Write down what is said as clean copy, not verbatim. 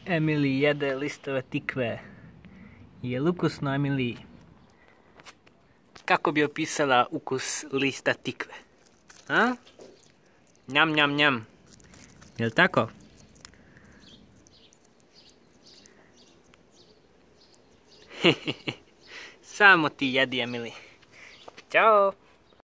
Emily jede listove tikve. Je li ukusno, Emily? Kako bi opisala ukus lista tikve? A? Njam, njam, njam. Jel' tako? Samo ti jedi, Emily. Ćao!